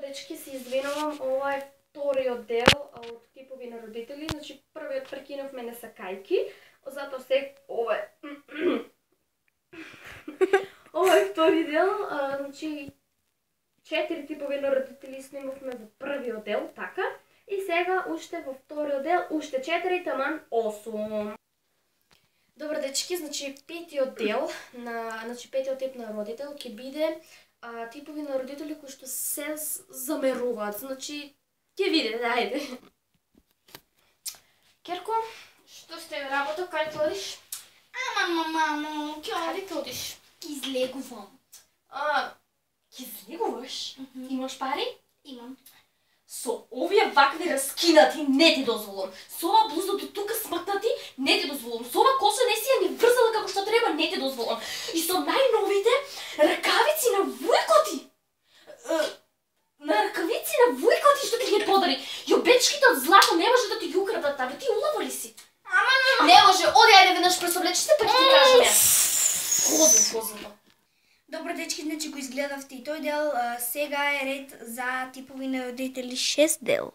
Дечки, се извинувам, ова е вториот дел од типови на родители. Значи, првиот прекинавме несакајки, затоа се ова е. Ова е втори дел, значи 4 типови на родители снимавме во првиот дел, така. И сега уште во вториот дел, уште 4, таман 8. Добро дечки, значи петиот дел на, петиот тип на родител ќе биде типови на родители кои што се замеруваат. Значи ќе видите, ајде. Керко, што сте работа, кај ти одиш? Мамо, Каде ти одиш? излегувам. Ќе излегуваш? Имаш пари? Имам. Со овие вакви раскинати не ти дозволам. Со ова блуза до тука смакнати не ти дозволам. Со ова коса не си ја ни врзала како што треба не ти дозволам. И со најновите ракавици на вујкоти. На ракавици на вујкоти што ти ги подари. Јобечките од злато не може да ти ги украдат, абе ти улава ли си? Не може, оди ајде веднаш пресоблечи се па ќе ти кажам ја. Козно. Добро дечки, значи го изгледавте и тој дел, сега е ред за типови на родители 6 дел.